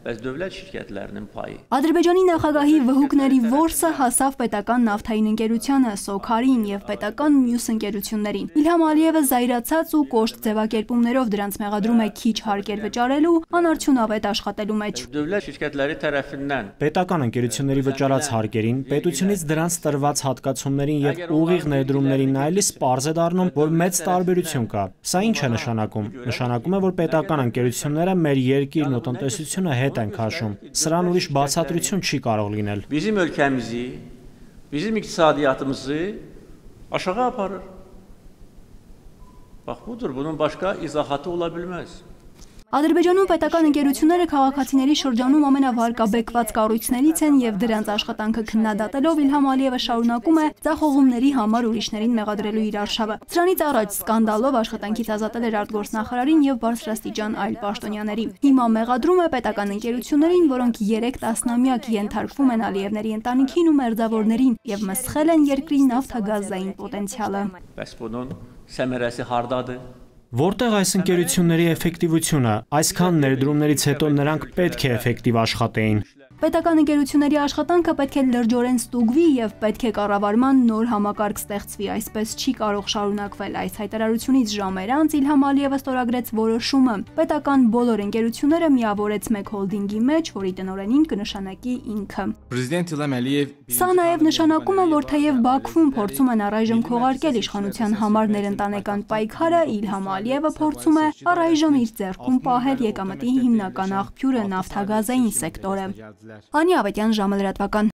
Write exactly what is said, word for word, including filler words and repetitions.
Bəs dövlət şirkətlərinin payı. Ադրբեջանի նախագահի վհուկների որսը հասավ պետական նավթային ընկերությանը, Սոքարին եւ պետական մյուս ընկերություններին։ Իլհամ Ալիևը զայրացած ու կոշտ ձևակերպումներով դրանց մեղադրում է քիչ հարկեր վճարելու, անարդյունավետ աշխատելու մեջ։ Dövlət şirkətləri tərəfindən պետական ընկերությունների վճարած հարկերին, պետությունից դրանց տրված հատկացումներին եւ ուղիղ ներդրումներին նայելիս պարզ է դառնում, որ մեծ տարբերություն կա։ Սա ինչ է նշանակում։ Նշանակում է, որ պետական ընկերությունները մեր երկիրն ու տնտեսությունը հետ են քաշում։ Սրան ուրիշ բացատրություն չի կարող լինել։ Bizim ölkəmizi, bizim iqtisadiyyatımızı aşağı aparır. Bax budur, bunun başqa izahatı ola bilməz. Ադրբեջանում պետական ընկերությունները քաղաքացիների շրջանում ամենավարկաբեկված կառույցներից են եւ դրանց աշխատանքը քննադատելով Իլհամ Ալիևը շարունակում է ձախողումների համար ուրիշներին մեղադրելու իր արշավը։ Սրանից առաջ սկանդալով աշխատանքից ազատել էր արտգործնախարարին եւ բարձրաստիճան այլ պաշտոնյաների։ Հիմա մեղադրում է պետական ընկերություններին, որոնք երեք տասնամյակ ենթարկվում են Ալիևների ընտանիքին ու մերձավորներին եւ մսխել են երկրի նավթագազային պոտենցիալը։ Bəs bunun səmərəsi hardadır? Որտեղ այս ընկերությունների էֆեկտիվությունը, այսքան ներդրումներից հետո նրանք պետք է էֆեկտիվ աշխատեին։ Պետական ընկերությունների աշխատանքը պետք է լրջորեն ստուգվի եւ պետք է կառավարման նոր համակարգ ստեղծվի, այսպես չի կարող շարունակվել։ Այս հայտարարությունից ժամեր անց Իլհամ Ալիևը ստորագրեց որոշումը։ Պետական բոլոր ընկերությունները միավորեց մեկ հոլդինգի մեջ, որի տնօրենին կնշանակի ինքը։ Պրեզիդենտ Իլհամ Ալիև Սա նաեւ նշանակում է, որ թեև Բաքվում փորձում են առայժմ քողարկել իշխանության համար ներընտանեկան պայքարը, Իլհամ Ալիևը փորձում է առայժմ իր ձեռքում պահել եկամտի հիմնական աղբյուրը նավթագազային սեկտորը։ Անի Ավետյան, ժամը լրատվական։